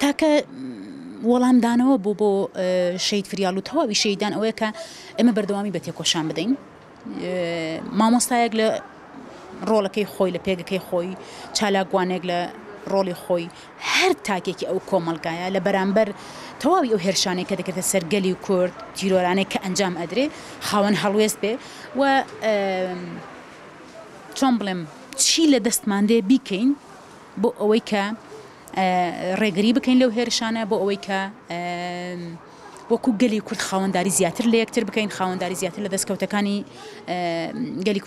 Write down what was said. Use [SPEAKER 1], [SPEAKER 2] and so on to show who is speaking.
[SPEAKER 1] تاکە وەڵامدانەوە بۆ بۆ شەهید فریال و تەواوی شەهیدان ئەوەیە کە ئێمە بەردەوامی بە تێکۆشان بدەین. مامۆستایەک لە ڕۆڵەکەی خۆی لە پێگەکەی خۆی چالاکوانێک لە ڕۆڵی خۆی هەر تاکێکی ئەو کۆمەڵگایە لە بەرامبەر تەواوی ئەو هێرشانەی کە دەکرێتە سەر گەلی کورد تیرۆرانەی کە ئەنجام ئەدرێ خاوەن هەڵوێست بێ و چۆن بڵێم چی لە دەستمان دێ بیکەین بۆ ئەوەی کە ڕێگری بکەین لەو هێرشانە بۆ ئەوەی کە وەکو گەلی کورد خاوەنداری زیاتر لە یەکتر بکەین خاوەنداری زیاتر لە دەستکەوتەکانی گەلی کورد.